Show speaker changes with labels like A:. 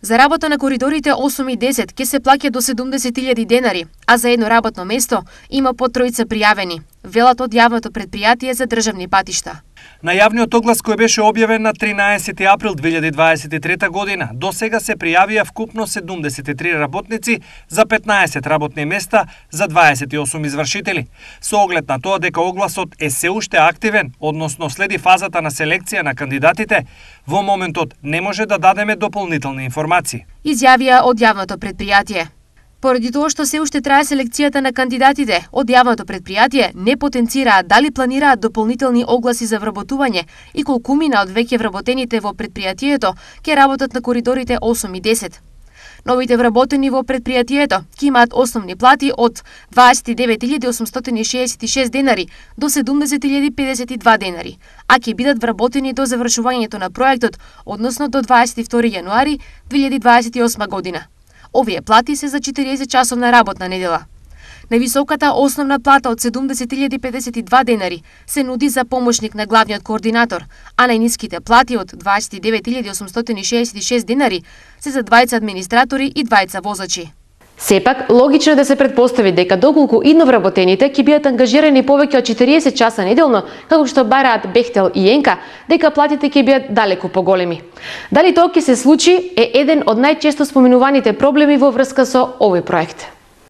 A: За работа на коридорите 8 и 10 ќе се плаќа до 70.000 денари, а за едно работно место има по тројца пријавени, велат од јавното предпријатие за државни патишта.
B: На јавниот оглас кој беше објавен на 13 април 2023 година, до сега се пријавија вкупно 73 работници за 15 работни места за 28 извршители. Со оглед на тоа дека огласот е се уште активен, односно следи фазата на селекција на кандидатите, во моментот не може да дадеме дополнителни информации.
A: Изјавија од јавното предпријатие. Поради тоа што се уште трае селекцијата на кандидатите, од јавното предпријатие не потенцираат дали планираат дополнителни огласи за вработување и колкумина од веќе вработените во предпријатието ќе работат на коридорите 8 и 10. Новите вработени во предпријатието ќе имаат основни плати од 29.866 денари до 70.052 денари, а ќе бидат вработени до завршувањето на проектот, односно до 22 јануари 2028 година. Овие плати се за 40 часовна работна недела. Највисоката основна плата од 70.052 денари се нуди за помошник на главниот координатор, а најниските плати од 29.866 денари се за двајца администратори и двајца возачи.
C: Сепак, логично е да се претпостави дека доколку идновработените ќе бидат ангажирани повеќе од 40 часа неделно, како што бараат Бехтел и Енка, дека платите ќе бидат далеку поголеми. Дали тоа ќе се случи е еден од најчесто споменуваните проблеми во врска со овој проект.